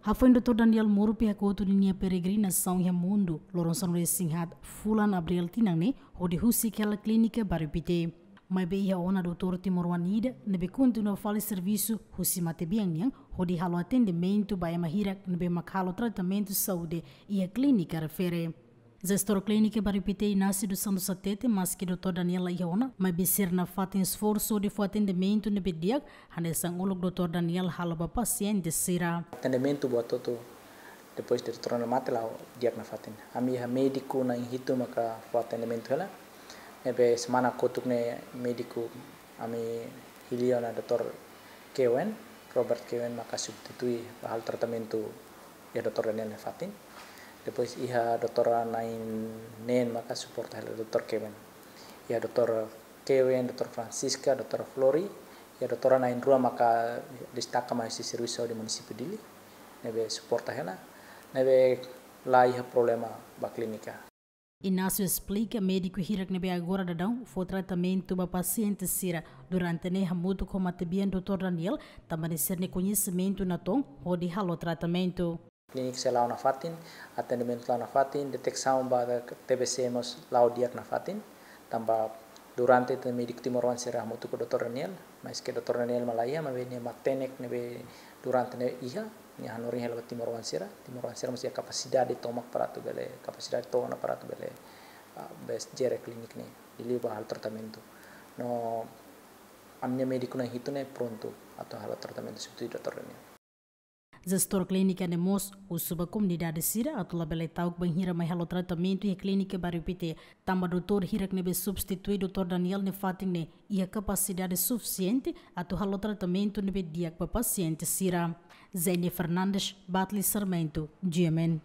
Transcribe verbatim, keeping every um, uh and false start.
Hafoin Doutór Daniel Murphy hakotu ninia peregrinasaun iha mundu, loron sanulu-resin-haat fulan Abril tinan ne'e, hodi husik hela Klínika Bairru Pité. Maibé iha ona doutór timoroan ida ne'ebé kontinua fali servisu husi matebian nian, hodi halo atendimentu ba ema hirak ne'ebé mak halo tratamentu saúde iha klínika refere. Jestór Klínika Bairru Pité Inácio dos Santos hatete, maski Doutór Daniel la iha ona, maibé sira nafatin esforsu hodi fó atendimentu ne'ebé di'ak, hanesan uluk Doutór Daniel halo ba pasiente sira. Atendimentu buat hotu, depois de Doutór Daniel mate la'o di'ak nafatin. Ami iha médiku na'in hitu maka fó atendimentu hela. Ne'ebé semana kotuk ne'e médiku ami hili ona Doutór Kewen, Robert Kewen maka substitui ba halo tratamentu iha Doutór Daniel nia fatin. Depois iha doutór na'in neen maka suporta hela Doutór Kewen. Iha Doutór Kewen, Doutór Francisca, Doutór Flori, iha doutór na'in rua maka destaka mai husi servisu saúde munisípiu Dili. Ne'ebé suporta hela, ne'ebé la iha problema ba klínika. Inácio esplika médiku hirak ne'ebé agora daudaun fó tratamentu ba pasiente sira durante ne'e hamutuk ho matebian Doutór Daniel, tanba sira-nia koñesimentu natoon hodi halo tratamentu. Klínika sira la'o nafatin, atendimentu la'o nafatin, deteksaun ba T B C mós la'o di'ak nafatin, tanba durante ne'e médiku timoroan sira hamutuk ho Doutór Daniel, maski Doutór Daniel mak la iha, maibé nia matenek ne'ebé durante ne'e iha, nia hanorin hela ba timoroan sira, timoroan sira mós iha kapasidade tomak para atu bele, kapasidade to'o ona para atu bele, ah, bele jere klínika ne'e, liuliu ba halo tratamentu. No ami-nia médiku na'in hitu ne'e prontu atu halo tratamentu substitui Doutór Daniel. Jestór klínika ne'e mós husu ba komunidade sira atu labele ta'uk bainhira mai halo tratamentu iha Klínika Bairru Pité, tanba doutór hirak ne'ebé substitui Doutór Daniel nia fatin ne'e iha kapasidade sufisiente atu halo tratamentu ne'ebé di'ak ba pasiente sira. Zenia Fernandes, Batli Sarmento, G M N.